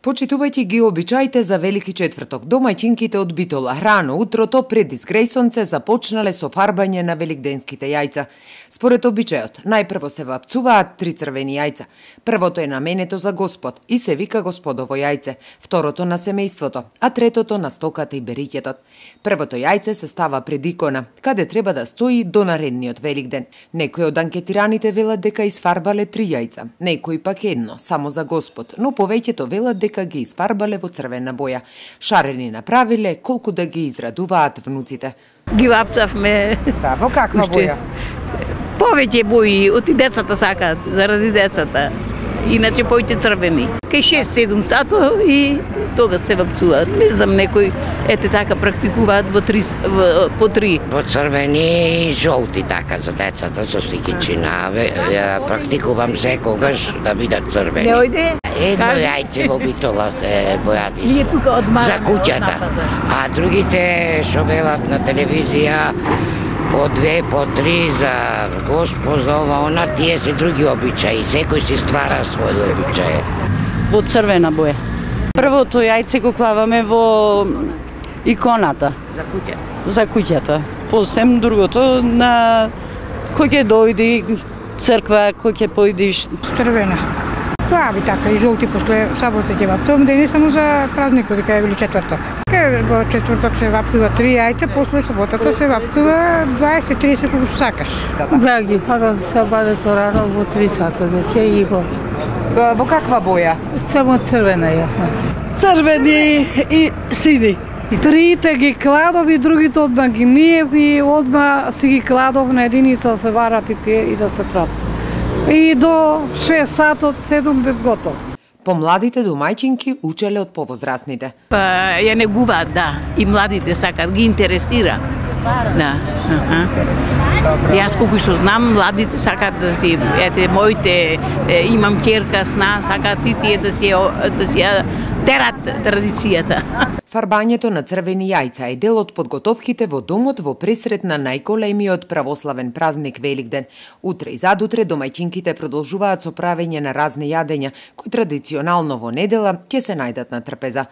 Почитувајќи ги обичаите за Велики четврток, домаќинките од Битола рано утрото пред изгрејсонце започнале со фарбање на великденските јајца. Според обичајот, најпрво се вапцуваат 3 црвени јајца. Првото е наменето за Господ и се вика Господово јајце, второто на семејството, а третото на стоката и бериќетот. Првото јајце се става пред икона, каде треба да стои до наредниот Великден. Некои од анкетираните велат дека изфарбале 3 јајца, некои пак едно, само за Господ, но повеќето велат дека ги изфарбале во црвена боја. Шарени направиле колку да ги израдуваат внуците. Ги вапцавме. Да, во каква боја? Повеќе бои, оти децата сакаат, заради децата. Иначе повеќе црвени. Кај 6-7 сато и тога се вапцуваат. Не знам, некои ете така практикуваат по 3. Во црвени и жолти така за децата со сликичина. Практикувам секогаш да бидат црвени. Не ојде? Едно јајце во Битола се бојади Ние тука од за куќата, а другите што велат на телевизија по 2, по 3 за Господ, за ова, она, тие се други обичаи. Секој си ствара свој обичај. Во црвена боја. Првото јајце го клаваме во иконата. За куќата. За куќата. Посем другото на кој ќе дојди црква, кој ќе појдиш. Црвена. Плави така и жолти после сабота ќе вапцувам, да не само за празникот, дека е Вели четврток. Во четврток се вапцува 3 јајца, после саботата се вапцува 20-30 колку сакаш. Да, ги пара сабадето рано во 3 сата, доќе и го. Во каква боја? Само црвена јасна. Црвени и сини. Трите ги кладов и другите одма ги миев и одма си ги кладов на единица да се варат и тие и да се прат. И до 6 сатот 7 бев готов. Помладите домаќинки учеле од повозрасните. Па ја негуваат, да. И младите сакаат, ги интересира. Да. Јас колку што знам, младите сакаат да си, ете, моите, имам ќерка сна, сакаат и тие да си ја терат традицијата. Фарбањето на црвени јајца е дел од подготовките во домот во пресрет на најголемиот православен празник Великден. Утре и задутре домаќинките продолжуваат со правење на разни јадења, кои традиционално во недела ќе се најдат на трпеза.